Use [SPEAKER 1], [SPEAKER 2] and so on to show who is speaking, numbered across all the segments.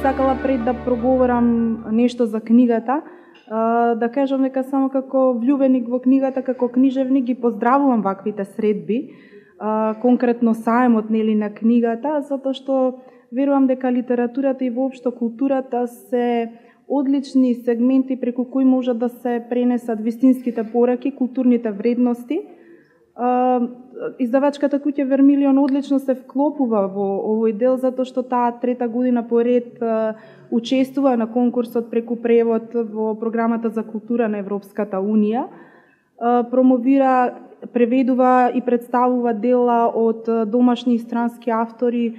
[SPEAKER 1] сакала пред да проговорам нешто за книгата, да кажам дека само како влюбеник во книгата, како книжевник ги поздравувам ваквите средби, конкретно саемот на книгата, затоа што верувам дека литературата и воопшто културата се одлични сегменти преку кои можат да се пренесат вистинските пораки, културните вредности. Издавачката куќа Вермилион одлично се вклопува во овој дел, затоа што таа трета година поред учествува на конкурсот преку превод во програмата за култура на Европската Унија. Промовира, преведува и представува дела од домашни и странски автори,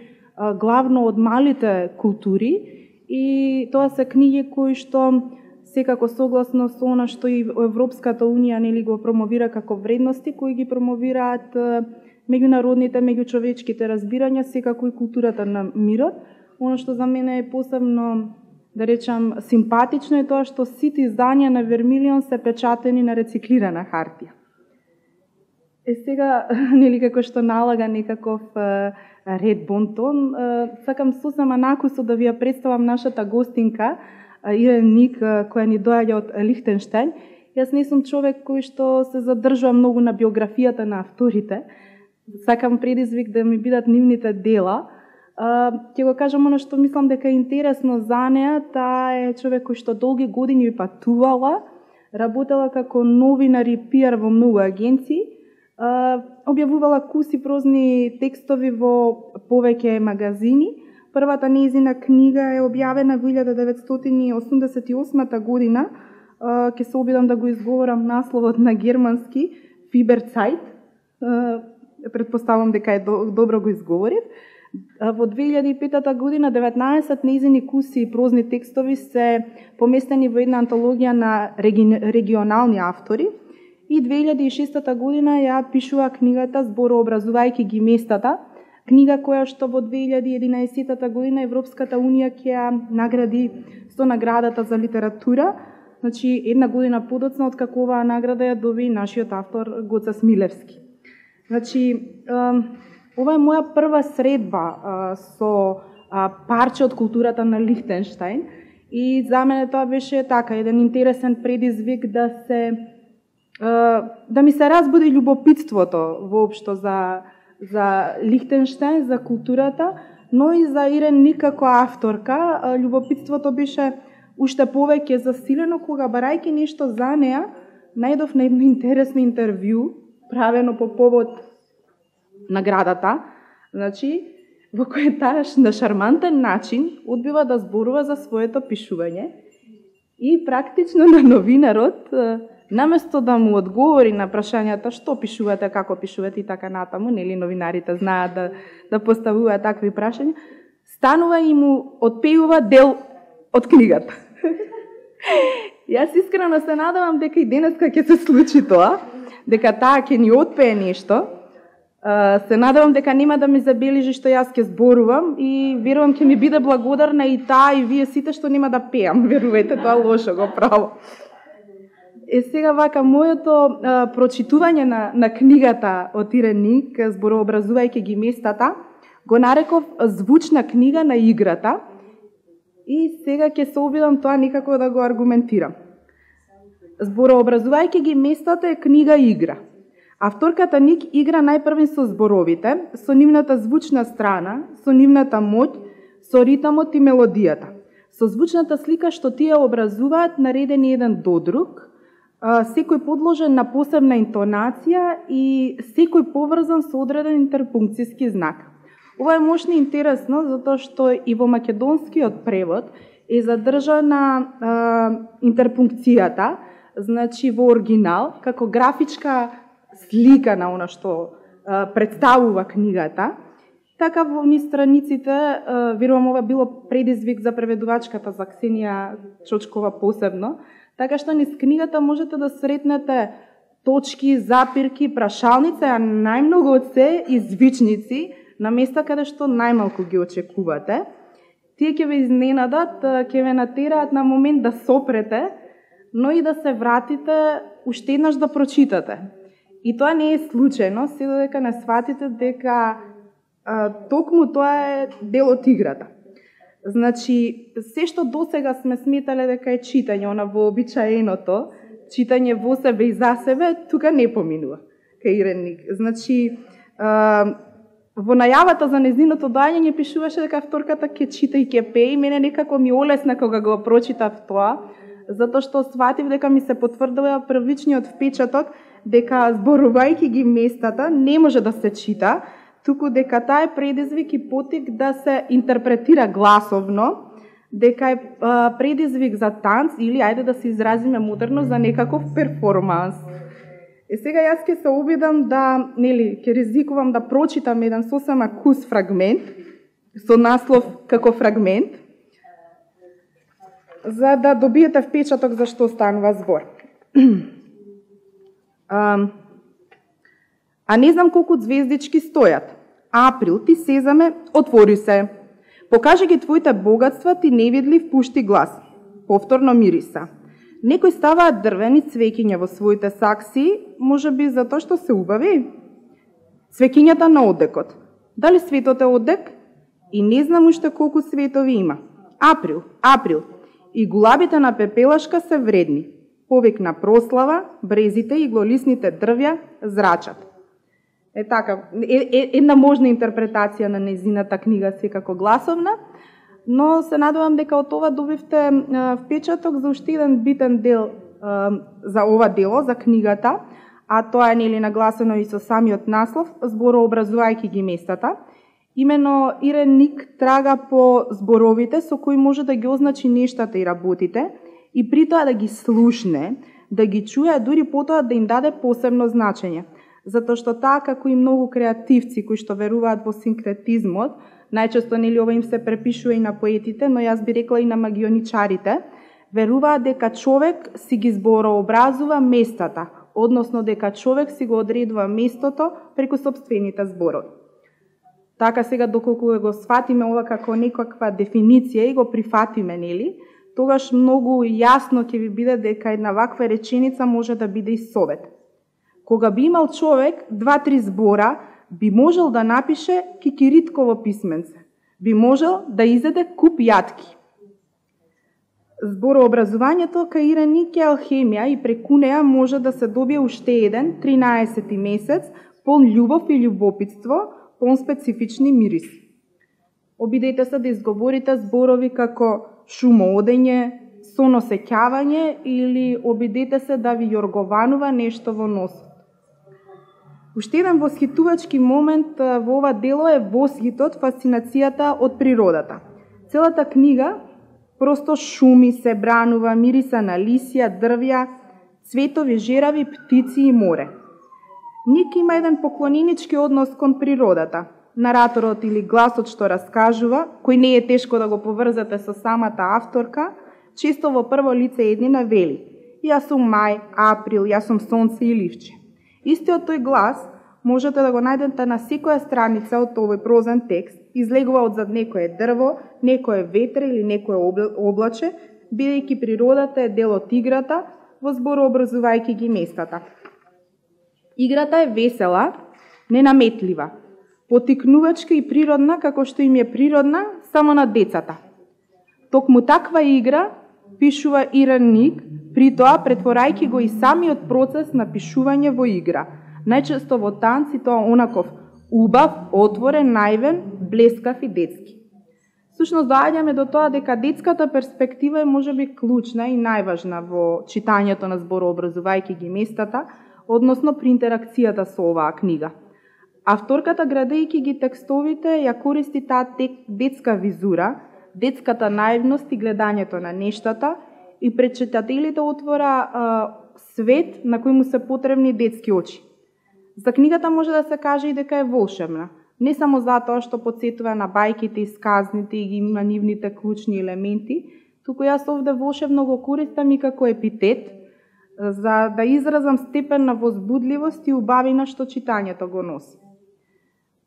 [SPEAKER 1] главно од малите култури, и тоа се книги кои што секако согласно со она што и Европската Унија го промовира како вредности, кои ги промовираат меѓународните, меѓучовечките разбирања, секако и културата на мирот. Оно што за мене е посебно, да речам, симпатично е тоа што сите издања на Вермилион се печатени на рециклирана хартија. Сега, како што налага некаков ред бонтон, сакам сосема накусо да ви ја представам нашата гостинка, Ирен Ник, која ни доаѓа од Лихтенштеин. Јас не сум човек кој што се задржува многу на биографијата на авторите. Сакам предизвик да ми бидат нивните дела. Ќе го кажам оно што мислам дека е интересно за неа. Таа е човек кој што долги години патувала, работела како новинар и пиар во многу агенции, објавувала куси прозни текстови во повеќе магазини. Првата нејзина книга е објавена во 1988 година. Ќе се обидам да го изговорам насловот на германски, Фиберцайт. Предпоставам дека е добро го изговорив. Во 2005 година 19 нејзини куси и прозни текстови се поместени во една антологија на регионални автори. И 2006 година ја пишува книгата Зборообразувајќи ги местата, книга која што во 2011 година Европската Унија ќе ја награди со наградата за литература. Значи, една година подоцна од како оваа награда ја доби нашиот автор Гоце Смилевски. Значи, ова е моја прва средба со парче од културата на Лихтенштеин и за мене тоа беше така еден интересен предизвик да ми се разбуди љубопитството воопшто за Лихтенштеин, за културата, но и за Ирен Ник како авторка. Љубопитството беше уште повеќе засилено кога, барајќи нешто за неа, најдов на едно интересно интервју правено по повод наградата, значи, во кој таа на шармантен начин одбива да зборува за своето пишување и практично на новинарот, наместо да му одговори на прашањата што пишувате, како пишувате и така натаму, нели новинарите знаат да поставуваат такви прашања, станува и му отпејува дел од книгата. Јас искрено се надевам дека и денеска ќе се случи тоа, дека таа ќе ни отпее нешто. Се надевам дека нема да ми забележи што јас ќе зборувам и верувам ќе ми биде благодарна и таа и вие сите што нема да пеам. Верувајте, тоа лошо го право. Сега вака, моето прочитување на книгата од Ирен Ник, Зборообразувајќи ги местата, го нареков звучна книга на играта и сега ќе се обидам тоа некако да го аргументирам. Зборообразувајќи ги местата е книга игра. Авторката Ник игра најпрвен со зборовите, со нивната звучна страна, со нивната моќ, со ритмот и мелодијата. Со звучната слика што тие образуваат наредени еден до друг, секој подложен на посебна интонација и секој поврзан со одреден интерпункцијски знак. Ова е мошно и интересно, затоа што и во македонскиот превод е задржана интерпункцијата, значи во оригинал, како графичка слика на она што представува книгата. Така во низ страниците, верувам ова било предизвик за преведувачката, за Ксенија Чочкова посебно, така што низ книгата можете да сретнете точки, запирки, прашалници, а најмногу од се извичници на места каде што најмалку ги очекувате. Тие ќе ве изненадат, ќе ве натераат на момент да сопрете, но и да се вратите уште еднаш да прочитате. И тоа не е случајно, се додека не сватите дека токму тоа е дел од играта. Значи, се што досега сме сметале дека е читање, она вообичаеното, читање во себе и за себе, тука не поминува кај Ирен Ник. Значи, во најавата за незиното доаѓање пишуваше дека авторката ќе чита и ќе пее и мене некако ми олесна кога го прочитав тоа, затоа што сватив дека ми се потврдува првичниот впечаток дека зборувајќи ги местата не може да се чита, туку дека таа е предизвик и потик да се интерпретира гласовно, дека е предизвик за танц или, ајде да се изразиме модерно, за некаков перформанс. Сега јас ќе се обидам да, ќе ризикувам да прочитам еден сосема кус фрагмент, со наслов како фрагмент, за да добиете впечаток за што станува збор. А не знам колку звездички стојат. Април, ти сезаме, отвори се. Покажи ги твоите богатства, ти невидлив пушти глас. Повторно мириса. Некои ставаат дрвени цвеќиња во своите сакси, можеби затоа што се убави. Цвеќињата на одекот. Дали светот е одек? И не знам уште колку светови има. Април. И гулабите на пепелашка се вредни. Повик на прослава, брезите и иглолисните дрвја зрачат. Така, една можна интерпретација на незината книга секако гласовна, но се надевам дека од ова добивте впечаток за уште еден битен дел за ова дело, за книгата, а тоа е нагласено и со самиот наслов, зборообразувајќи ги местата. Имено Ирен Ник трага по зборовите со кои може да ги означи нештата и работите и при тоа да ги слушне, да ги чуе, дури потоа да им даде посебно значење. Затоа што таа, како и многу креативци кои што веруваат во синкретизмот, најчесто ова им се препишува и на поетите, но јас би рекла и на магионичарите, веруваат дека човек си ги зборообразува местата, односно дека човек си го одредува местото преку сопствените зборови. Така сега, доколку го сватиме ова како некаква дефиниција и го прифатиме, тогаш многу јасно ќе ви биде дека една ваква реченица може да биде и совет. Кога би имал човек 2-3 збора, би можел да напише кикиритково писменце. Би можел да изеде куп јатки. Зборообразувањето кај Ирен Ник е алхемија и преку неа може да се добие уште еден 13-ти месец полн љубов и љубопитство, полн специфични мириси. Обидете се да изговорите зборови како шумоодење, соносеќавање или обидете се да ви јоргованува нешто во носот. Уште еден восхитувачки момент во ова дело е восхитот, фасцинацијата од природата. Целата книга просто шуми, се бранува, мириса на лисија, дрвја, цветови, жерави, птици и море. Ник има еден поклоненички однос кон природата. Нараторот или гласот што раскажува, кој не е тешко да го поврзате со самата авторка, често во прво лице еднина вели: јас сум мај, април, јас сум сонце и ливче. Истиот тој глас можете да го најдете на секоја страница од овој прозен текст, излегува од зад некое дрво, некое ветре или некое облаче, бидејќи природата е дел од играта, во зборообразувајќи ги местата. Играта е весела, ненаметлива, потикнувачка и природна, како што им е природна само на децата. Токму таква игра пишува Ирен Ник, при тоа претворајќи го и самиот процес на пишување во игра, најчесто во танц и тоа онаков убав, отворен, наивен, блескав и детски. Всушност доаѓаме до тоа дека детската перспектива е можеби клучна и најважна во читањето на зборообразувајќи ги местата, односно при интеракцијата со оваа книга. Авторката, градејќи ги текстовите, ја користи таа детска визура, детската наивност и гледањето на нештата и пред читателите отвора свет на кој му се потребни детски очи. За книгата може да се каже и дека е волшебна, не само затоа што потсетува на бајките и сказните и ги има нивните клучни елементи, туку јас овде волшебно го користам и како епитет, за да изразам степен на возбудливост и убавина што читањето го носи.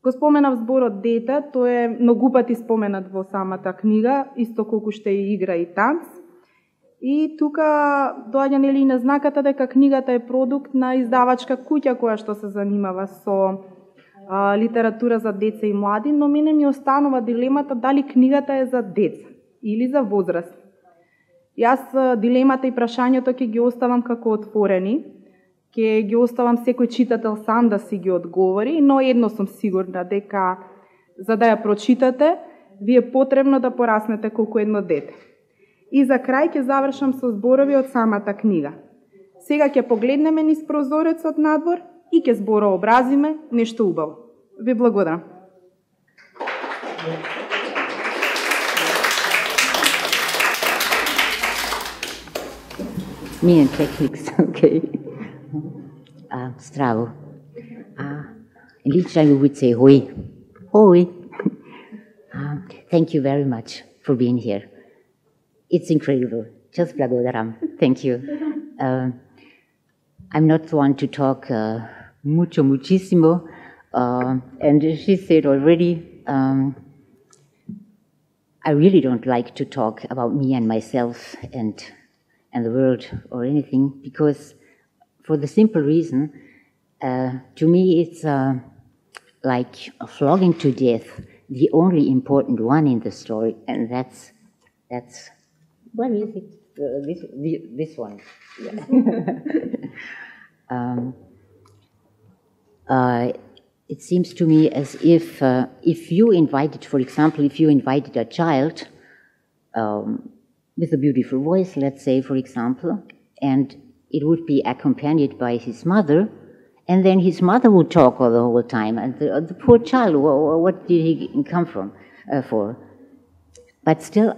[SPEAKER 1] Го споменав зборот дете, тој е многу пати споменат во самата книга, исто колку што е игра и танц. И тука доаѓа и назнаката дека книгата е продукт на издавачка куќа која што се занимава со литература за деца и млади, но мене ми останува дилемата дали книгата е за деца или за возрасти. Јас дилемата и прашањето ќе ги оставам како отворени, ќе ги оставам секој читател сам да си ги одговори, но едно сум сигурна дека за да ја прочитате, ви е потребно да пораснете колку едно дете. И за крај ќе завршам со зборови од самата книга. Сега ќе погледнеме низ прозорецот надвор и ќе зборообразиме нешто убаво. Ви благодарам.
[SPEAKER 2] Me and techniques, okay. Здраво. In Liechtenstein we would say hoi. Hoi. Thank you very much for being here. It's incredible. Just blagodaram. Thank you. I'm not the one to talk muchísimo. And she said already, I really don't like to talk about me and myself and the world or anything, because for the simple reason, to me it's like a flogging to death, the only important one in the story, and that's what is it? This one. Yeah. It seems to me as if you invited, for example, if you invited a child with a beautiful voice, let's say, for example, and it would be accompanied by his mother, and then his mother would talk all the whole time, and the poor child, what did he come from for? But still,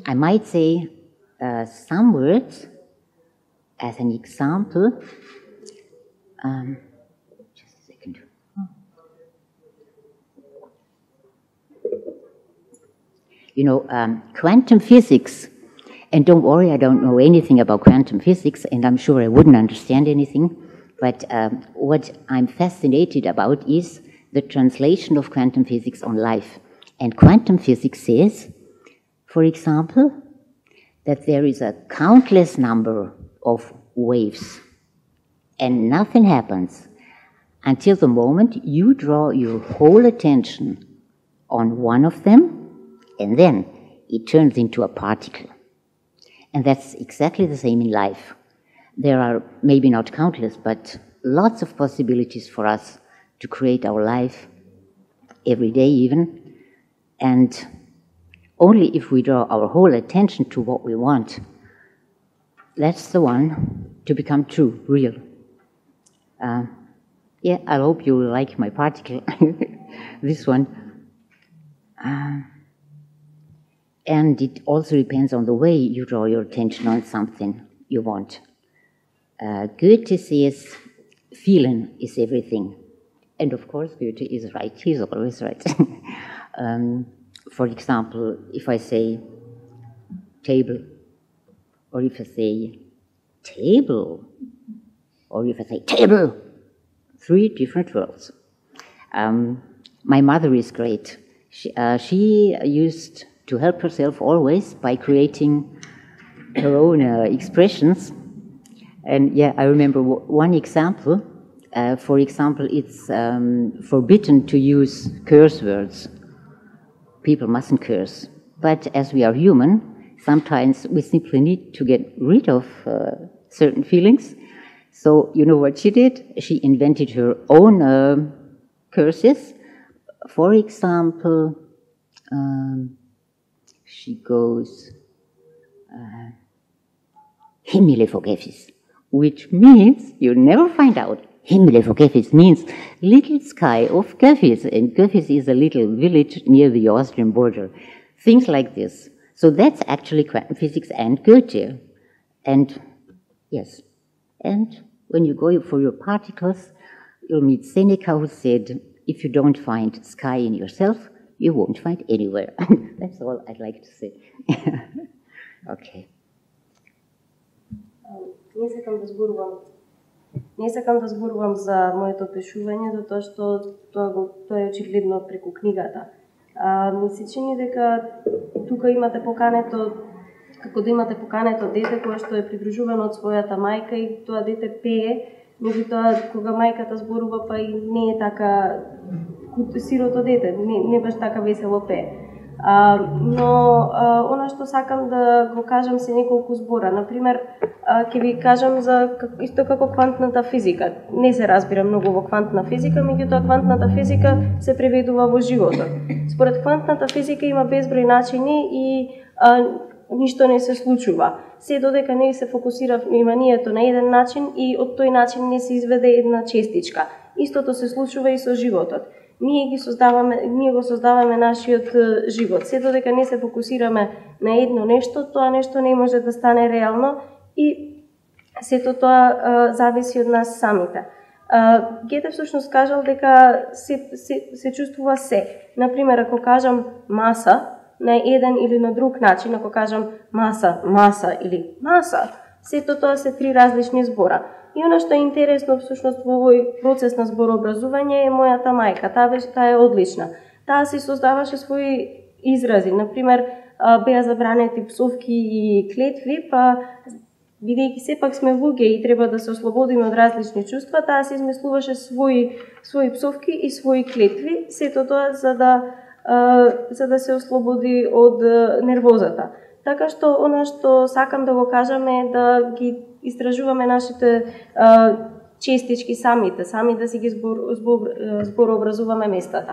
[SPEAKER 2] I might say some words as an example. Just a second. You know, quantum physics, and don't worry, I don't know anything about quantum physics, and I'm sure I wouldn't understand anything, but what I'm fascinated about is the translation of quantum physics on life. And quantum physics says, for example, that there is a countless number of waves, and nothing happens until the moment you draw your whole attention on one of them, and then it turns into a particle. And that's exactly the same in life. There are maybe not countless, but lots of possibilities for us to create our life every day even. And only if we draw our whole attention to what we want, that's the one to become true, real. Yeah, I hope you will like my particle, this one. And it also depends on the way you draw your attention on something you want. Goethe says, feeling is everything. And of course, Goethe is right. He's always right. For example, if I say table, or if I say table, or if I say table, 3 different words. My mother is great. She used to help herself always by creating her own expressions. And yeah, I remember one example. For example, it's forbidden to use curse words. People mustn't curse. But as we are human, sometimes we simply need to get rid of certain feelings. So you know what she did? She invented her own curses. For example, she goes, Himmele vergeffis, which means, you never find out, Himmele vergeffis means little sky of Göffis, and Göffis is a little village near the Austrian border. Things like this. So that's actually quantum physics and Goethe. And yes, and when you go for your particles, you'll meet Seneca, who said, if you don't find sky in yourself, you won't find anywhere. That's all I'd like to say. Okay.
[SPEAKER 3] Не сакам да зборувам за моето пишување, затоа што тоа е очигледно преку книгата. Ми се чини дека тука имате покането, како да имате покането дете кое што е придружувано од својата мајка и тоа дете пее Меѓутоа, кога мајката зборува, па и не е така сирото дете, не баш така весело пее. Но она што сакам да го кажам се неколку збора. Например, ќе ви кажам за исто како квантната физика. Не се разбира многу во квантна физика, меѓутоа квантната физика се преведува во животот. Според квантната физика има безброј начини и ништо не се случува. Се додека не се фокусира вниманието на еден начин и од тој начин не се изведе една честичка. Истото се случува и со животот. Ние го создаваме нашиот живот. Се додека не се фокусираме на едно нешто, тоа нешто не може да стане реално и сето тоа зависи од нас самите. Гете всушност кажал дека се чувствува се. Например, ако кажам маса на еден или на друг начин, ако кажам маса или маса, сето тоа се три различни збора. И оно што е интересно всушност во овој процес на зборообразување е мојата мајка. Таа е одлична. Таа си создаваше своји изрази. Например, беа забранети псовки и клетви, па бидејќи сепак сме луѓе и треба да се ослободиме од различни чувства, таа се измислуваше своји псовки и своји клетви, сето тоа за да се ослободи од нервозата. Така што она што сакам да го кажам е да ги истражуваме нашите честички сами да си ги зборообразуваме местата.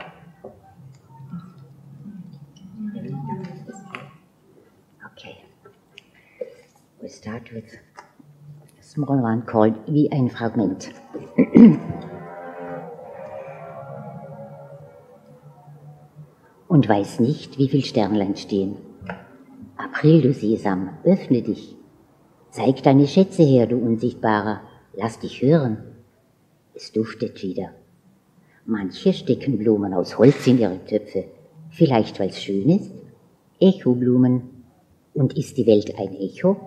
[SPEAKER 2] Okay. We start with a small one called Wie ein Fragment. Und weiß nicht, wie viel Sternlein stehen. April, du Sesam, öffne dich. Zeig deine Schätze her, du Unsichtbarer. Lass dich hören. Es duftet wieder. Manche stecken Blumen aus Holz in ihre Töpfe. Vielleicht, weil es schön ist. Echoblumen. Und ist die Welt ein Echo?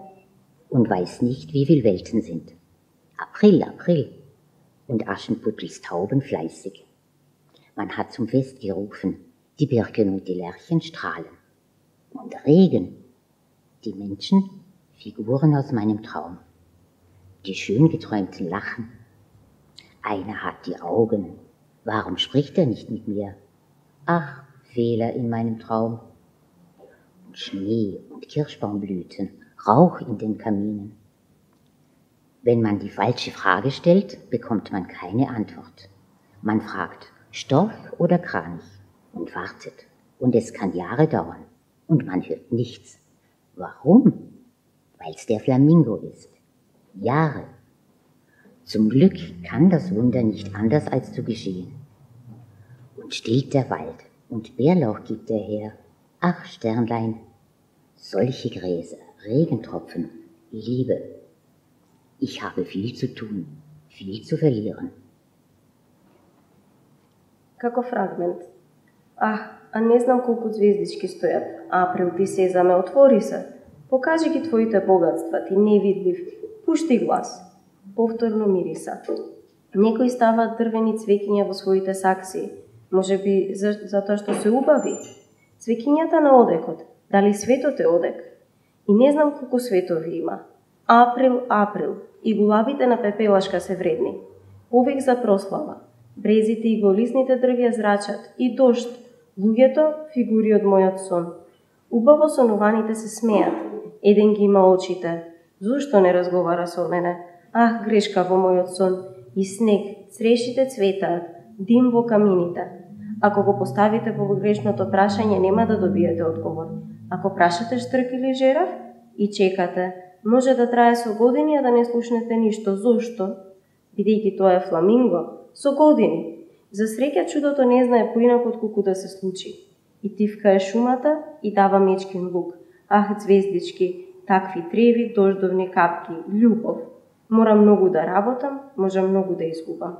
[SPEAKER 2] Und weiß nicht, wie viel Welten sind. April, April. Und Aschenputtels Tauben fleißig. Man hat zum Fest gerufen. Die Birken und die Lerchen strahlen. Und Regen. Die Menschen, Figuren aus meinem Traum. Die schön geträumten lachen. Einer hat die Augen. Warum spricht er nicht mit mir? Ach, Fehler in meinem Traum. Und Schnee und Kirschbaumblüten, Rauch in den Kaminen. Wenn man die falsche Frage stellt, bekommt man keine Antwort. Man fragt Storch oder Kranich und wartet. Und es kann Jahre dauern. Und man hört nichts. Warum? Weil es der Flamingo ist. Jahre. Zum Glück kann das Wunder nicht anders als zu geschehen. Und stillt der Wald und Bärlauch gibt er her. Ach, Sternlein, solche Gräser, Regentropfen, Liebe. Ich habe viel zu tun, viel zu verlieren.
[SPEAKER 3] Како фрагмент. А не знам колку звездички стојат. Април, ти Сезаме, отвори се. Покажи ги твоите богатства, ти невидлив. Пушти глас. Повторно мириса. Некои ставаат дрвени цвеќиња во своите сакси. Може би затоа што се убави. Цвеќињата на одекот. Дали светот е одек? И не знам колку светови има. Април, април. И гулабите на пепелашка се вредни. Повик за прослава. Брезите и голисните дрвја зрачат. И дожд. Луѓето, фигури од мојот сон. Убаво сонуваните се смеат. Еден ги има очите. Зошто не разговара со мене? Ах, грешка во мојот сон. И снег, црешите цветаат, дим во камините. Ако го поставите погрешното прашање, нема да добиете одговор. Ако прашате штрк или жерав и чекате, може да трае со години, а да не слушнете ништо. Зошто? Бидејќи тоа е фламинго. Со години. За среќа чудото не знае поинаку отколку да се случи. И тивка е шумата и дава мечкин лук. Ах, звездички, такви треви, дождовни капки, љубов. Морам многу да работам, може многу да изгубам.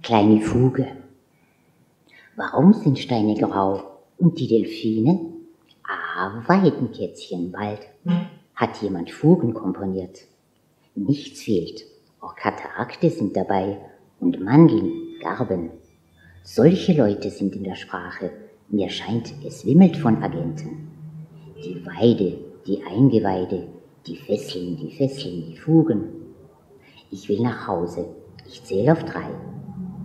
[SPEAKER 2] Kleine Fuge. Warum sind Steine grau und die Delfine? Weidenkätzchenwald. Hat jemand Fugen komponiert? Nichts fehlt. Auch Katarakte sind dabei und Mandeln, Garben. Solche Leute sind in der Sprache. Mir scheint, es wimmelt von Agenten. Die Weide, die Eingeweide, Die Fesseln, die Fugen. Ich will nach Hause. Ich zähle auf 3.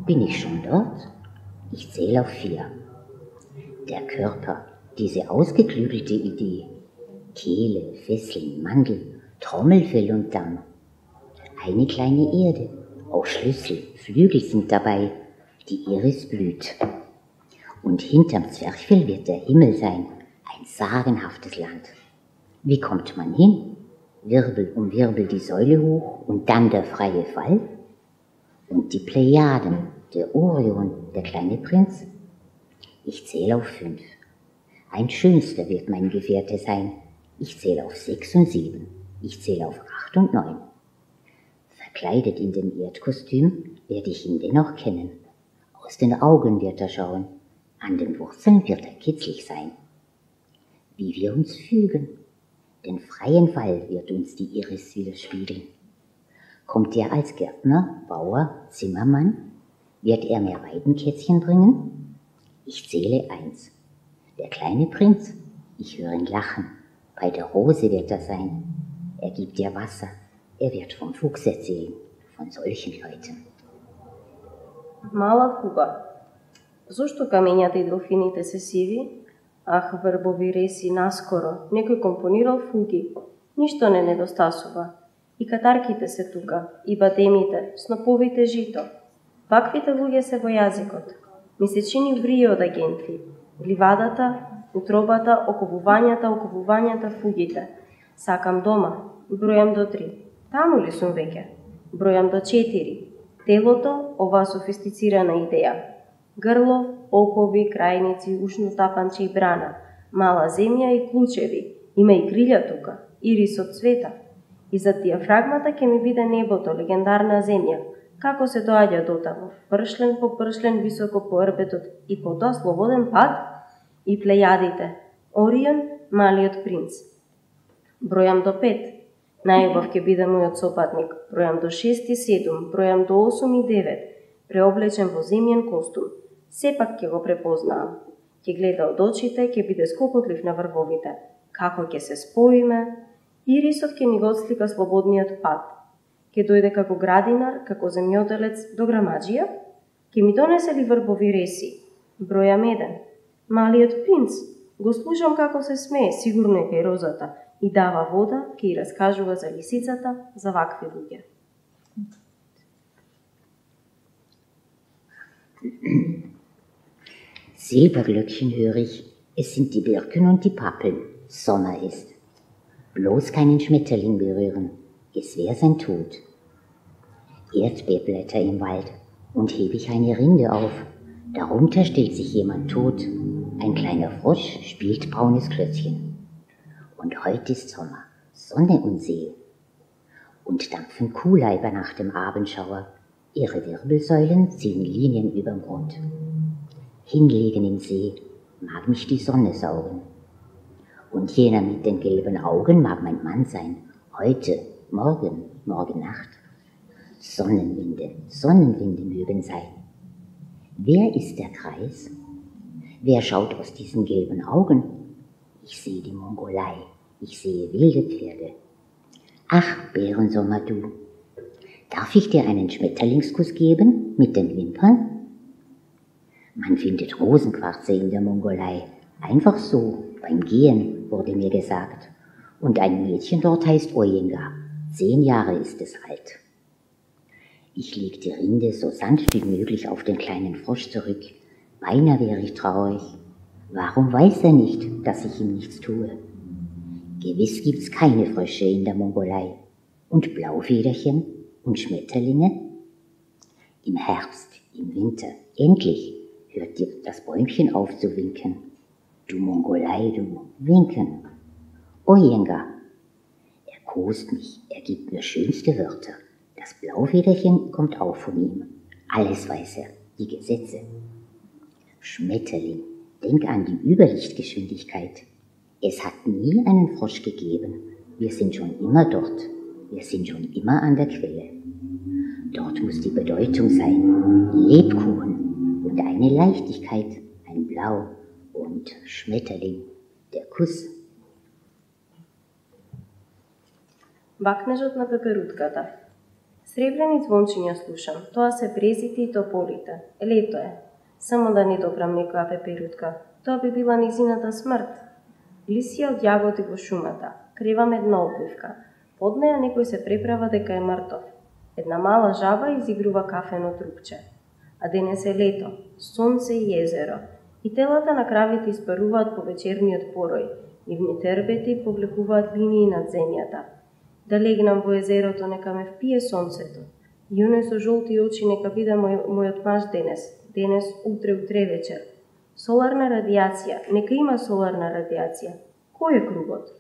[SPEAKER 2] Bin ich schon dort? Ich zähle auf 4. Der Körper, diese ausgeklügelte Idee. Kehle, Fesseln, Mandel, Trommelfell und Damm. Eine kleine Erde, auch Schlüssel, Flügel sind dabei. Die Iris blüht. Und hinterm Zwerchfell wird der Himmel sein, ein sagenhaftes Land. Wie kommt man hin? Wirbel um Wirbel die Säule hoch und dann der freie Fall? Und die Plejaden, der Orion, der kleine Prinz? Ich zähle auf 5. Ein schönster wird mein Gefährte sein. Ich zähle auf 6 und 7. Ich zähle auf 8 und 9. Verkleidet in dem Erdkostüm werde ich ihn dennoch kennen. Aus den Augen wird er schauen. An den Wurzeln wird er kitzlig sein. Wie wir uns fügen. Den freien Fall wird uns die Iris widerspiegeln. Kommt er als Gärtner, Bauer, Zimmermann? Wird er mir Weidenkätzchen bringen? Ich zähle 1. Der kleine Prinz, ich höre ihn lachen. Bei der Rose wird er sein. Er gibt dir Wasser. Er wird vom Fuchs erzählen, von solchen Leuten.
[SPEAKER 3] Мала фуга. Зошто камењата и делфините се сиви? Ах, врбови реси, наскоро, некој компонирал фуги. Ништо не недостасува. И катарките се тука, и бадемите, сноповите жито. Ваквите луѓе се во јазикот. Ми се чини врие од агенти. Ливадата, утробата, оковувањата, фугите. Сакам дома. Бројам до 3. Таму ли сум веќе? Бројам до 4. Телото, оваа софистицирана идеја. Грло, окови, крајници, ушно тапанче и брана. Мала земја и клучеви. Има и крилја тука. Ирис од цвета. И за диафрагмата ќе ми биде небото, легендарна земја. Како се доаѓа дотаму? Пршлен по пршлен, високо по орбетот и потоа слободен пат? И плејадите. Орион, малиот принц. Бројам до 5. Најубав ќе биде мојот сопатник. Бројам до 6 и 7, бројам до 8 и 9. Преоблечен во земјен костум. Сепак ќе го препознаам. Ќе гледа од очите, ќе биде скокотлив на врвовите. Како ќе се споиме? Ирисот ќе ни го отслика слободниот пат. Ќе дојде како градинар, како земјоделец до грамаджија? Ќе ми донесе ли врбови реси? Бројам 1. Малиот принц. Го слушам како се смее, сигурно е кај розата. И дава вода, ке и раскажува за лисицата, за вакви луѓе.
[SPEAKER 2] Silberglöckchen höre ich, es sind die Birken und die Pappeln, Sommer ist. Bloß keinen Schmetterling berühren, es wär sein Tod. Erdbeerblätter im Wald und heb ich eine Rinde auf, darunter stellt sich jemand tot. Ein kleiner Frosch spielt braunes Klötzchen. Und heute ist Sommer, Sonne und See. Und dampfen Kuhleiber nach dem Abendschauer, ihre Wirbelsäulen ziehen Linien überm Grund. Hinlegen im See mag mich die Sonne saugen. Und jener mit den gelben Augen mag mein Mann sein, heute, morgen, morgen Nacht. Sonnenwinde mögen sein. Wer ist der Kreis? Wer schaut aus diesen gelben Augen? Ich sehe die Mongolei, ich sehe wilde Pferde. Ach, Bärensommer, du, darf ich dir einen Schmetterlingskuss geben mit den Wimpern? Man findet Rosenquarze in der Mongolei, einfach so, beim Gehen, wurde mir gesagt. Und ein Mädchen dort heißt Ojenga, 10 Jahre ist es alt. Ich leg die Rinde so sanft wie möglich auf den kleinen Frosch zurück. Beinahe wäre ich traurig. Warum weiß er nicht, dass ich ihm nichts tue? Gewiss gibt's keine Frösche in der Mongolei. Und Blaufederchen und Schmetterlinge? Im Herbst, im Winter, endlich hört dir das Bäumchen auf zu winken. Du Mongolei, du, winken. Ojenga. Er kost mich, er gibt mir schönste Wörter. Das Blaufederchen kommt auch von ihm. Alles weiß er, die Gesetze. Schmetterling, denk an die Überlichtgeschwindigkeit. Es hat nie einen Frosch gegeben. Wir sind schon immer dort. Wir sind schon immer an der Quelle. Dort muss die Bedeutung sein. Lebkuchen und eine Leichtigkeit, ein Blau und Schmetterling, der Kuss.
[SPEAKER 3] Бакнежот на пеперутката. Сребрени звончиња слушам, тоа се брезите и тополите. Лето е. Само да не добрам некоја пеперутка, тоа би била низината смрт. Лисија од јагоди во шумата, кревам една обвивка. Под неја некој се преправа дека е мртов. Една мала жаба изигрува кафено трупче. А денес е лето, сонце и езеро, и телата на кравите испаруваат по вечерниот порој, нивните рбети повлекуваат линии над земјата. Да легнам во езерото, нека ме впие сонцето. И оној со жолти очи нека биде мојот маж денес, утре вечер. Соларна радијација, нека има соларна радијација. Кој е кругот?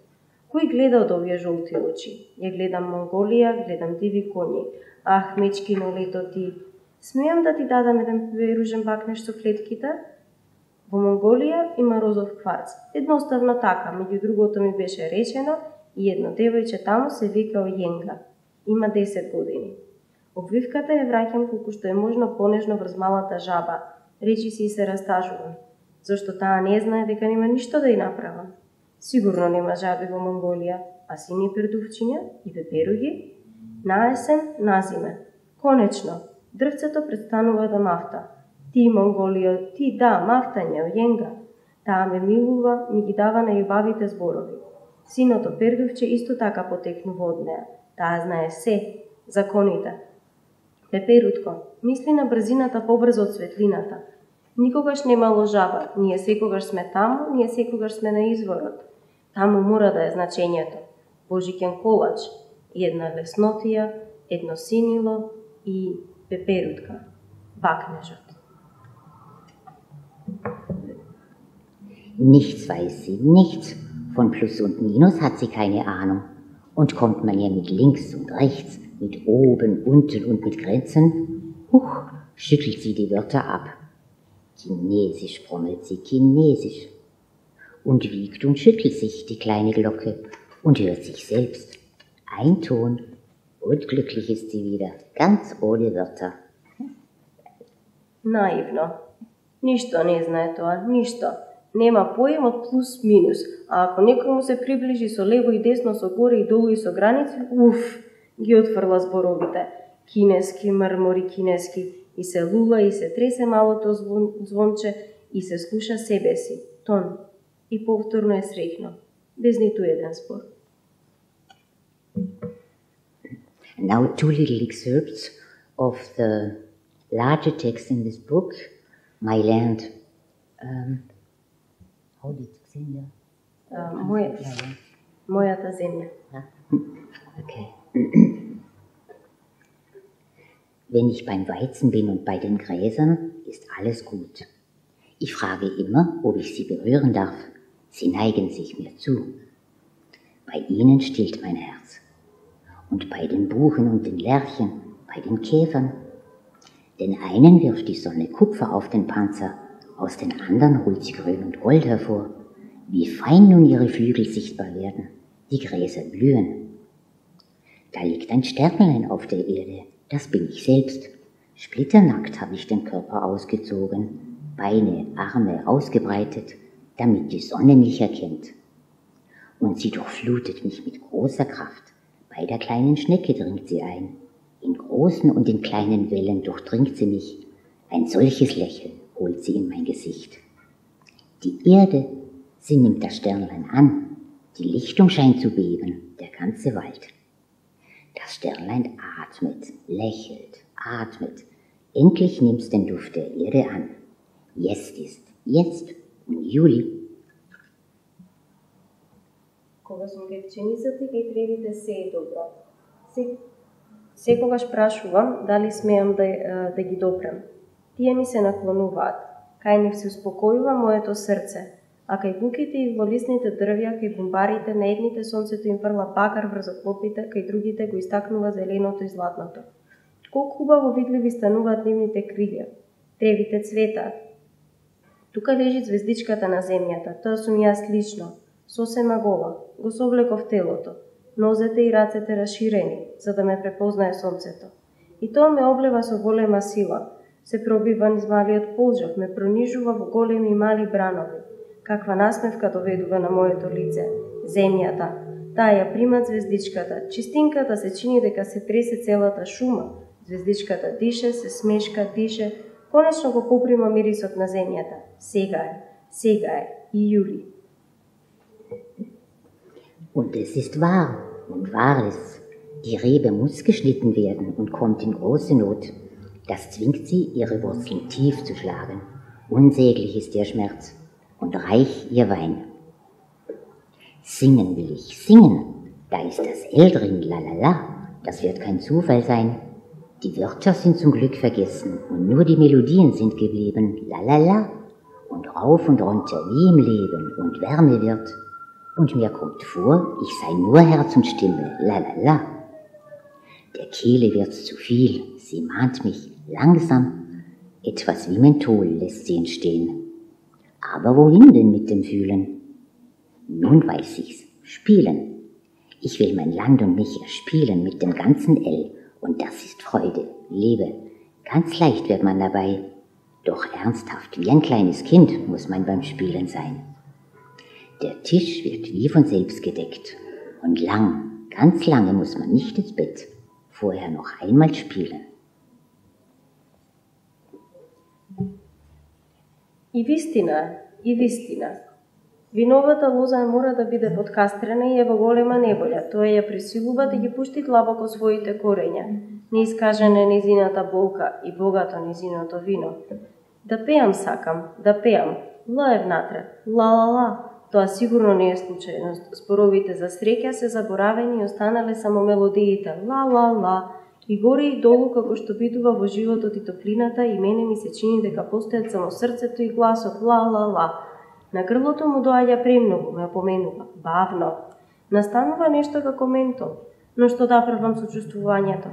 [SPEAKER 3] Кој гледа од овие жолти очи? Ја гледам Монголија, гледам диви коњи. Ах, мечкино лето ти. Смеам да ти дадам еден пеперужен бакнеш со клетките? Во Монголија има розов кварц. Едноставно така, меѓу другото ми беше речено, и едно девојче таму се вика Ојенга. Има 10 години. Обвивката ја враќам колку што е можно понежно врз малата жаба. Речи си и се растажувам. Зошто таа не знае дека нема ништо да ја направам. Сигурно нема жаби во Монголија, а сини пердувчиња и пеперуги. На есен, на зиме. Конечно, дрвцето престанува да мафта. Ти, Монголија, ти да, мафтање, Ојенга. Таа ме милува, ми ги дава најубавите зборови. Синото пердувче исто така потекнува од неа. Таа знае се, законите. Пеперутко, мисли на брзината побрзо од светлината. Никогаш немало жаба, ние секогаш сме таму, ние секогаш сме на изворот. Таму мора да е значењето. Божиќен колач, и една леснотија, едно синило и пеперутка, бакнежот.
[SPEAKER 2] Nichts weiß sie, nichts. Von Plus und Minus hat sie keine Ahnung. Und kommt man ihr mit links und rechts, mit oben, unten und mit Grenzen, schüttelt sie die Wörter ab. Chinesisch brommelt sie, Chinesisch. Und wiegt und schüttelt sich die kleine Glocke und hört sich selbst. Ein Ton und glücklich ist sie wieder, ganz ohne Wörter.
[SPEAKER 3] Наивно. Ништо не знае тоа, ништо. Нема поем од плюс минус, а ако некој му се приближи со лево и десно, со горе и долу и со граници, ги отфрла зборовите. Кинески, мрмори кинески, и се лула, и се тресе малото звонче, и се слуша себе си, тон, и повторно е среќно, без ниту еден спор.
[SPEAKER 2] Now 2 little excerpts of the larger text in this book, My Land. How did you say that?
[SPEAKER 3] Мојата земја.
[SPEAKER 2] Okay. Wenn ich beim Weizen bin und bei den Gräsern, ist alles gut. Ich frage immer, ob ich sie berühren darf. Sie neigen sich mir zu. Bei ihnen stillt mein Herz. Und bei den Buchen und den Lerchen, bei den Käfern. Den einen wirft die Sonne Kupfer auf den Panzer, aus den anderen holt sie Grün und Gold hervor. Wie fein nun ihre Flügel sichtbar werden, die Gräser blühen. Da liegt ein Sternlein auf der Erde, das bin ich selbst. Splitternackt habe ich den Körper ausgezogen, Beine, Arme ausgebreitet, damit die Sonne mich erkennt. Und sie durchflutet mich mit großer Kraft. Bei der kleinen Schnecke dringt sie ein. In großen und in kleinen Wellen durchdringt sie mich. Ein solches Lächeln holt sie in mein Gesicht. Die Erde, sie nimmt das Sternlein an. Die Lichtung scheint zu beben, der ganze Wald. Das Sternlein atmet, lächelt, atmet. Endlich nimmt's den Duft der Erde an. Jetzt im Juli.
[SPEAKER 3] Кога сум девченицата и кај тревите се е добро. Секогаш прашувам дали смеам да ги допрем. Тие ми се наклонуваат. Кај нив се успокојува моето срце, а кај буките и во лисните дрвја, кај бумбарите, на едните сонцето им фрла бакар врз оклопите, кај другите го истакнува зеленото и златното. Колку убаво видливи стануваат нивните крилја. Тревите цветаат. Тука лежи звездичката на земјата, тоа сум јас лично. Сосема гола, го совлеков телото, нозете и рацете расширени, за да ме препознае сонцето. И тоа ме облева со голема сила, се пробива низ малиот полжав, ме пронижува во големи и мали бранови. Каква насмевка доведува на моето лице, земјата, Таа ја примат звездичката. Чистинката се чини дека се тресе целата шума. Звездичката дише, се смешка, дише. Конечно го поприма мирисот на земјата. Сега е, и јули.
[SPEAKER 2] Und es ist wahr und wahr ist, die Rebe muss geschnitten werden und kommt in große Not. Das zwingt sie, ihre Wurzeln tief zu schlagen. Unsäglich ist ihr Schmerz und reich ihr Wein. Singen will ich, singen. Da ist das L drin, lalala. Das wird kein Zufall sein. Die Wörter sind zum Glück vergessen und nur die Melodien sind geblieben, lalala. Und rauf und runter wie im Leben und Wärme wird. Und mir kommt vor, ich sei nur Herz und Stimme, lalala. Der Kehle wird's zu viel, sie mahnt mich langsam. Etwas wie Menthol lässt sie entstehen. Aber wohin denn mit dem Fühlen? Nun weiß ich's, spielen. Ich will mein Land und mich erspielen mit dem ganzen L. Und das ist Freude, Liebe. Ganz leicht wird man dabei. Doch ernsthaft, wie ein kleines Kind muss man beim Spielen sein. Der Tisch wird wie von selbst gedeckt. Und lang, ganz lange muss man nicht ins Bett. Vorher noch einmal spielen.
[SPEAKER 3] И вистина. Виновата лоза мора да биде подкастрена и ева голема неболја. Тоа ја пресилува да ги пушти длабоко своите корења. Неискажана е незината болка и богато незиното вино. Да пеам сакам, да пеам. Ла е внатре. Ла. Тоа сигурно не е случајност. Зборовите за среќа се заборавени и останале само мелодиите. Ла. И горе и долу како што битува во животот и топлината, и мене ми се чини дека постојат само срцето и гласот. Ла. На грлото му доаѓа премногу, ме опоменува. Бавно. Настанува нешто како ментол. Но што да правам со чувствувањето?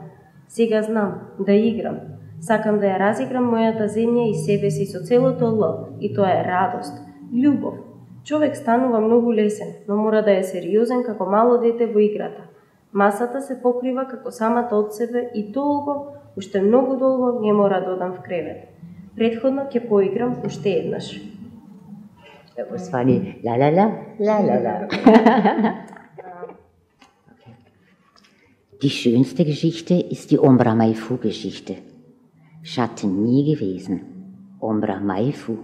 [SPEAKER 3] Сега знам, да играм. Сакам да ја разиграм мојата земја и себе си со целото Л. И тоа е радост, љубов. Човек станува многу лесен, но мора да е сериозен како мало дете во играта. Масата се покрива како самата од себе и долго, уште многу долго, не мора да одам в кревет. Предходно ќе поиграм уште еднаш.
[SPEAKER 2] Das war die la. Die schönste Geschichte ist die Ombra Maifu-Geschichte. Schatten nie gewesen. Ombra Maifu.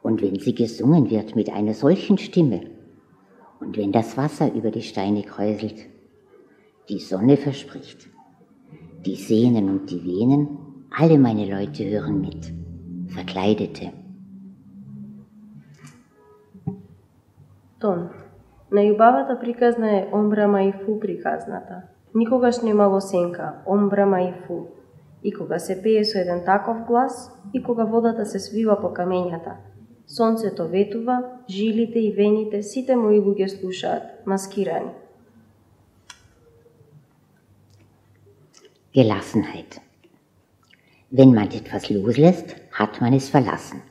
[SPEAKER 2] Und wenn sie gesungen wird mit einer solchen Stimme, und wenn das Wasser über die Steine kräuselt, die Sonne verspricht, die Sehnen und die Venen, alle meine Leute hören mit, Verkleidete.
[SPEAKER 3] Тон. Најубавата приказна е Омбра Мaifu приказната. Никогаш немало сенка, Омбра Maifu. И кога се пее со еден таков глас, и кога водата се свива по камењата. Сонцето ветува, жилите и вените, сите мои луѓе слушаат, маскирани.
[SPEAKER 2] Gelassenheit. Wenn man etwas loslässt, hat man es verlassen.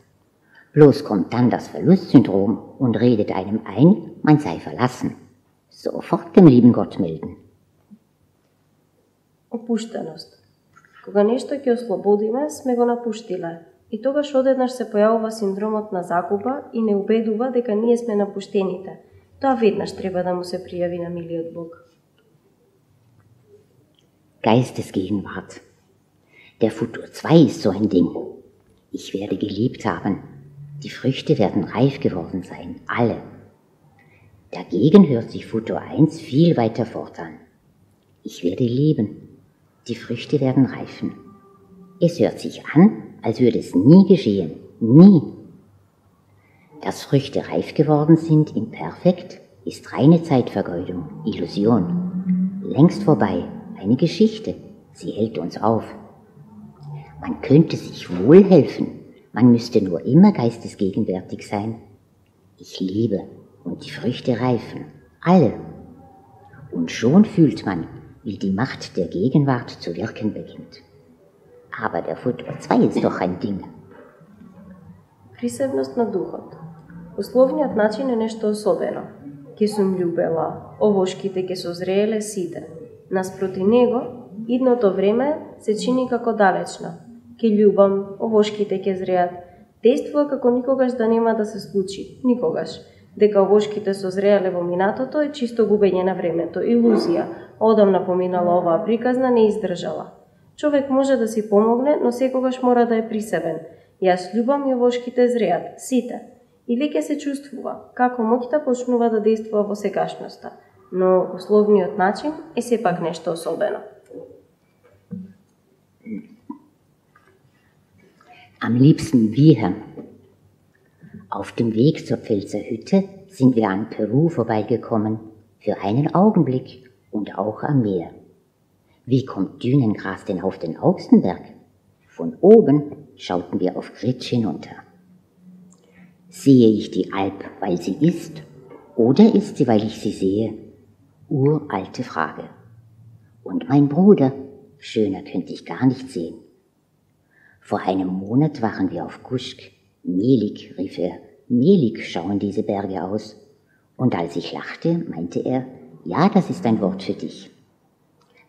[SPEAKER 2] Bloß kommt dann das Verlustsyndrom und redet einem ein, man sei verlassen. Sofort dem lieben Gott melden.
[SPEAKER 3] Опуштеност. Кога нешто ќе ослободиме, сме го напуштиле. И тогаш одеднаш се појавува синдромот на загуба и не убедува дека ние сме напуштените. Тоа веднаш треба да му се пријави на милиот Бог.
[SPEAKER 2] Geistesgegenwart. Der Futur 2 ist so ein Ding. Ich werde geliebt haben. Die Früchte werden reif geworden sein, alle. Dagegen hört sich Futur 1 viel weiter fort an. Ich werde lieben. Die Früchte werden reifen. Es hört sich an, als würde es nie geschehen. Nie. Dass Früchte reif geworden sind, imperfekt, ist reine Zeitvergeudung, Illusion. Längst vorbei, eine Geschichte. Sie hält uns auf. Man könnte sich wohl helfen. Man müsste nur immer geistesgegenwärtig sein. Ich liebe und die Früchte reifen. Alle. Und schon fühlt man, wie die Macht der Gegenwart zu wirken beginnt. Aber der Futur 2 ist doch ein Ding.
[SPEAKER 3] Присебност на духот. Условниот начин е нешто особено. Ке сум љубела, овошките ке созрееле сите. Наспроти него, идното време се чини како далечно. Ке љубам, овошките ке зреат. Действува како никогаш да нема да се случи. Никогаш. дека овошките созреале во минатото е чисто губење на времето, илузија, одамна поминала оваа приказна, не издржала. Човек може да си помогне, но секогаш мора да е присебен. Јас љубам и овошките зреат, сите. И веќе се чувствува како моќта почнува да действува во сегашноста, но условниот начин е сепак нешто особено.
[SPEAKER 2] Am liebsten wir. Auf dem Weg zur Pfälzer Hütte sind wir an Peru vorbeigekommen, für einen Augenblick und auch am Meer. Wie kommt Dünengras denn auf den Auxenberg? Von oben schauten wir auf Gritsch hinunter. Sehe ich die Alp, weil sie ist, oder ist sie, weil ich sie sehe? Uralte Frage. Und mein Bruder, schöner könnte ich gar nicht sehen. Vor einem Monat waren wir auf Kuschk. Mehlig, rief er, mehlig schauen diese Berge aus. Und als ich lachte, meinte er, ja, das ist ein Wort für dich.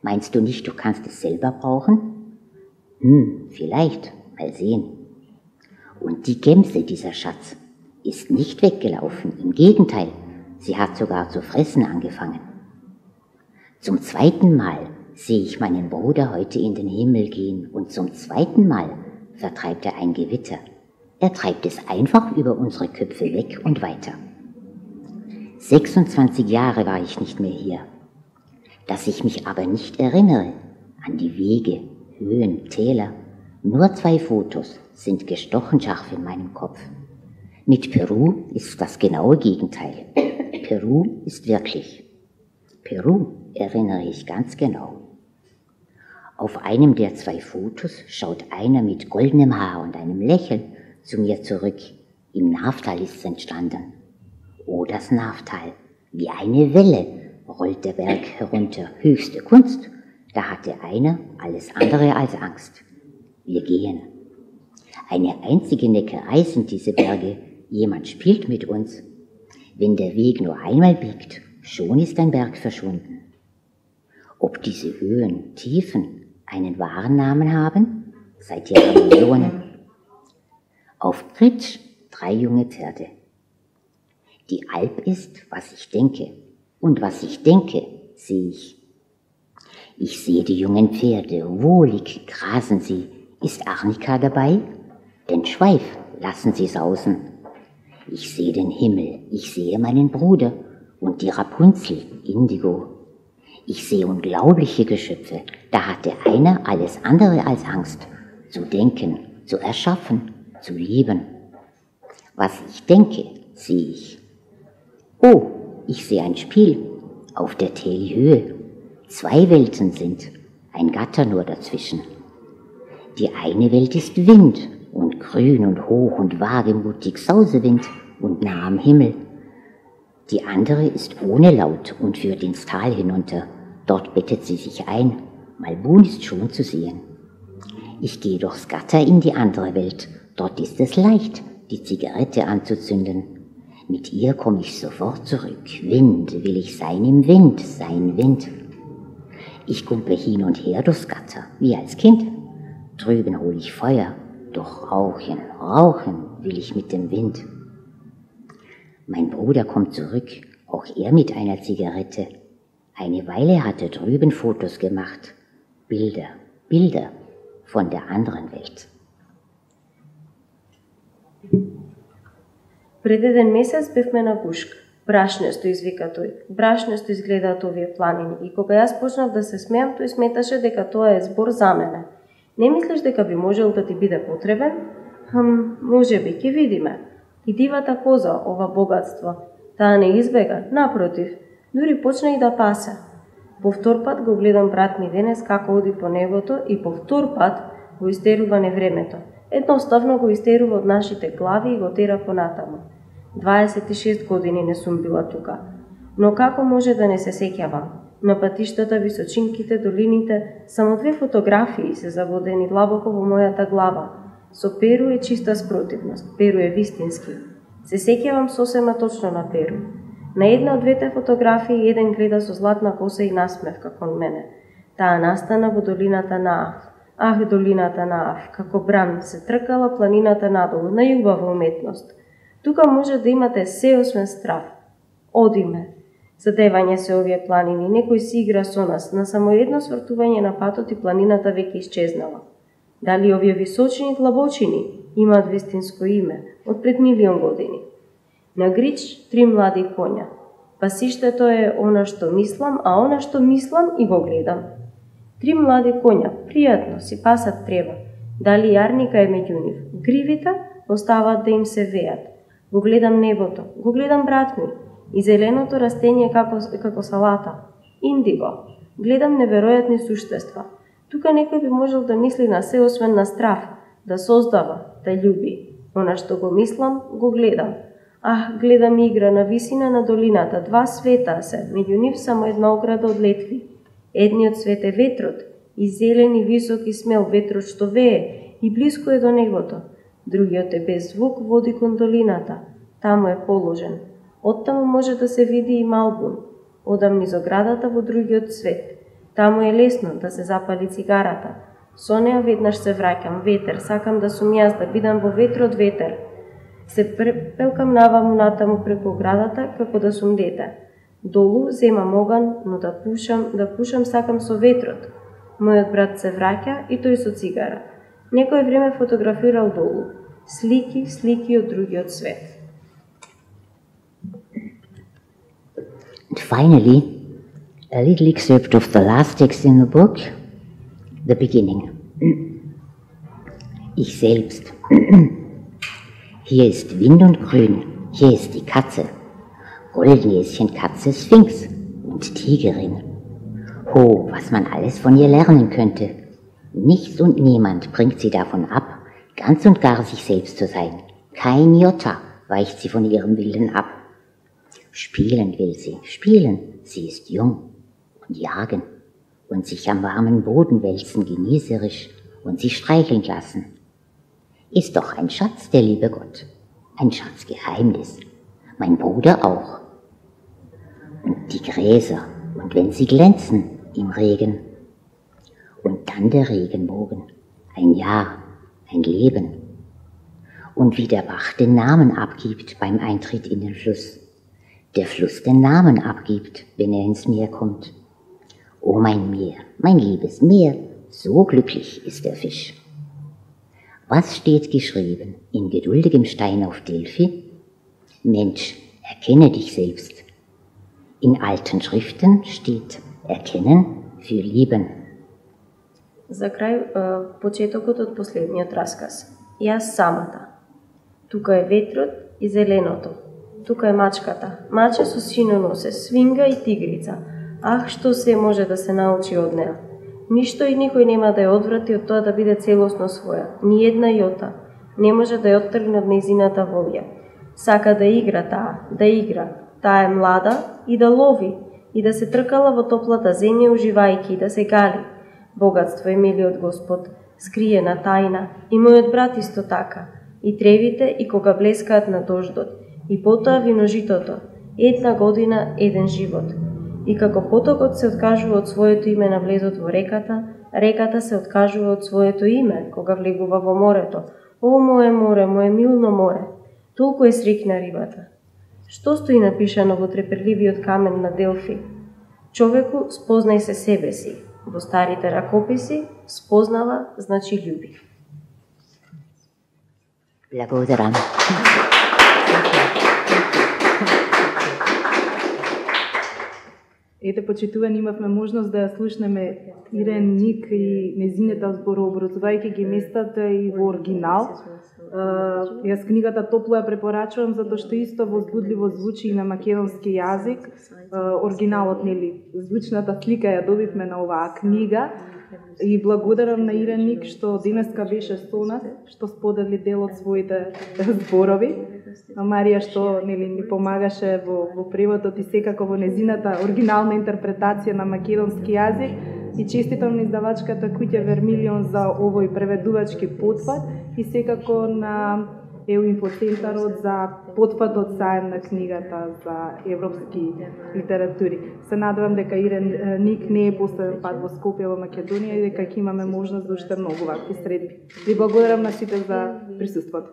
[SPEAKER 2] Meinst du nicht, du kannst es selber brauchen? Vielleicht, mal sehen. Und die Gemse, dieser Schatz, ist nicht weggelaufen, im Gegenteil, sie hat sogar zu fressen angefangen. Zum zweiten Mal sehe ich meinen Bruder heute in den Himmel gehen und zum zweiten Mal vertreibt er ein Gewitter. Er treibt es einfach über unsere Köpfe weg und weiter. 26 Jahre war ich nicht mehr hier. Dass ich mich aber nicht erinnere an die Wege, Höhen, Täler, nur 2 Fotos sind gestochen scharf in meinem Kopf. Mit Peru ist das genaue Gegenteil. Peru ist wirklich. Peru erinnere ich ganz genau. Auf einem der 2 Fotos schaut einer mit goldenem Haar und einem Lächeln zu mir zurück. Im Naftal ist es entstanden. Oh, das Naftal, wie eine Welle rollt der Berg herunter. Höchste Kunst, da hatte einer alles andere als Angst. Wir gehen. Eine einzige Neckerei sind diese Berge. Jemand spielt mit uns. Wenn der Weg nur einmal biegt, schon ist ein Berg verschwunden. Ob diese Höhen, Tiefen einen wahren Namen haben? Seit Jahrmillionen. Auf Gritsch 3 junge Pferde. Die Alp ist, was ich denke. Und was ich denke, sehe ich. Ich sehe die jungen Pferde, wohlig grasen sie. Ist Arnika dabei? Den Schweif lassen sie sausen. Ich sehe den Himmel, ich sehe meinen Bruder und die Rapunzel, Indigo. Ich sehe unglaubliche Geschöpfe, da hatte einer alles andere als Angst, zu denken, zu erschaffen, zu lieben. Was ich denke, sehe ich. Oh, ich sehe ein Spiel auf der Telhöhe. 2 Welten sind, ein Gatter nur dazwischen. Die eine Welt ist Wind und grün und hoch und wagemutig Sausewind und nah am Himmel. Die andere ist ohne Laut und führt ins Tal hinunter. Dort bettet sie sich ein. Malbun ist schon zu sehen. Ich gehe durchs Gatter in die andere Welt. Dort ist es leicht, die Zigarette anzuzünden. Mit ihr komme ich sofort zurück. Wind will ich sein im Wind, sein Wind. Ich kumple hin und her durchs Gatter, wie als Kind. Drüben hole ich Feuer, doch rauchen, rauchen will ich mit dem Wind. Mein Bruder kommt zurück, auch er mit einer Zigarette. Eine Weile hat er drüben Fotos gemacht. Bilder, Bilder von der anderen Welt.
[SPEAKER 3] Пред еден месец бевме на Кушк. Брашнесто, извика тој. Брашнесто изгледаат овие планини. И кога јас почнав да се смеам, тој сметаше дека тоа е збор за мене. Не мислиш дека би можел да ти биде потребен? Може би, ќе видиме. И дивата коза, ова богатство. Таа не избега, напротив, дури почна и да пасе. Повтор пат го гледам брат ми денес како оди по небото и повтор пат го истерува невремето. Едноставно го истерува од нашите глави и го тера понатаму. 26 години не сум била тука. Но како може да не се сеќавам? На патиштата, височинките, долините, само 2 фотографии се заводени длабоко во мојата глава. Со Перу е чиста спротивност, Перу е вистински. Се сеќавам сосема точно на Перу. На една од 2 фотографии еден гледа со златна коса и насмевка кон мене. Таа настана во долината на Аф. Долината на Аф, како бран се тркала планината надолу, најубава уметност. Тука може да имате се освен страф. Одиме. Задевање се овие планини, некој си игра со нас, на само едно свртување на патот и планината веќе исчезнала. Дали овие височини длабочини имаат вистинско име од пред 1.000.000 години? На грич 3 млади коња. Пасиштето е она што мислам, а она што мислам и го гледам. 3 млади коња, пријатно, си пасат трева. Дали јарника е меѓу нив? Гривите оставаат да им се веат. Го гледам небото, го гледам брат ми, и зеленото растение како салата. Индиго. Гледам неверојатни суштества. Тука некој би можел да мисли на се освен на страф, да создава, да љуби. Она што го мислам, го гледам. Гледам игра на висина на долината, 2 света се, меѓу нив само една ограда од летви. Едниот свет е ветрот, и зелен и висок и смел ветрот што вее, и блиско е до небото. Другиот е без звук, води кон долината, таму е положен. Оттаму може да се види и Малбун, одам низ оградата во другиот свет. Таму е лесно да се запали цигарата. Со неа веднаш се враќам, ветер, сакам да сум јас, да бидам во ветрот ветер. Се пелкам наваму натаму преку оградата, како да сум дете. Долу земам оган, но да пушам сакам со ветрот. Мојот брат се враќа и тој со цигара. Некој време фотографирал долу. Слики од другиот свет.
[SPEAKER 2] And finally, a little excerpt of the last text in the book, the beginning. Ich selbst. Hier ist Wind und Grün, hier ist die Katze, Goldnäschen, Katze, Sphinx und Tigerin. Oh, was man alles von ihr lernen könnte. Nichts und niemand bringt sie davon ab, ganz und gar sich selbst zu sein. Kein Jota weicht sie von ihrem Willen ab. Spielen will sie, spielen, sie ist jung, und jagen und sich am warmen Boden wälzen genießerisch und sich streicheln lassen. Ist doch ein Schatz, der liebe Gott, ein Schatzgeheimnis, mein Bruder auch. Und die Gräser, und wenn sie glänzen im Regen, und dann der Regenbogen, ein Jahr, ein Leben, und wie der Bach den Namen abgibt beim Eintritt in den Fluss, der Fluss den Namen abgibt, wenn er ins Meer kommt. O mein Meer, mein liebes Meer, so glücklich ist der Fisch. Was steht geschrieben in geduldigem Stein auf Delphi? Mensch, erkenne dich selbst. In alten Schriften steht erkennen für lieben.
[SPEAKER 3] За крај, почетокот од последниот расказ. Јас самата. Тука е ветрот и зеленото. Тука е мачката. Маче со сино носе, свинга и тигрица. Што се може да се научи од неа. Ништо и никој нема да ја одврати од тоа да биде целосно своја. Ни една јота не може да ја оттргне од нејзината волја. Сака да игра таа, да игра. Таа е млада и да лови, и да се тркала во топлата земја уживајќи и да се гали. Богатство е милиот Господ, скриена тајна, и мојот брат исто така. И тревите, и кога блескаат на дождот, и потоа виножитото, една година, еден живот. И како потокот се откажува од своето име на влезот во реката, реката се откажува од своето име кога влегува во морето. О, моје море, моје милно море, толку е срикна рибата. Што стои напишано во треперливиот камен на Делфи? Човеку, спознај се себе си. Во старите ракописи, спознава значи љуби.
[SPEAKER 2] Благодарам.
[SPEAKER 1] Ете, почитувани, имавме можност да ја слушнеме Ирен Ник и незината зборови, образувајќи ги местата и во оригинал. Јас книгата топло ја препорачувам, затоа што исто возбудливо звучи и на македонски јазик. Оригиналот, нели, звучната слика ја добивме на оваа книга. И благодарам на Ирен Ник што денеска беше со нас, што сподели дел од своите зборови. На Марија што, нели, ни помагаше во преводот и секако во незината оригинална интерпретација на македонски јазик. И честитам на издавачката Куќа Вермилион за овој преведувачки потпат и секако на Инфоцентарот за потпатот заем на книгата за европски литератури. Се надевам дека Ирен Ник не е последен пат во Скопје во Македонија и дека ќе имаме можност за уште многу вакви средби. Ви благодарам на сите за присуството.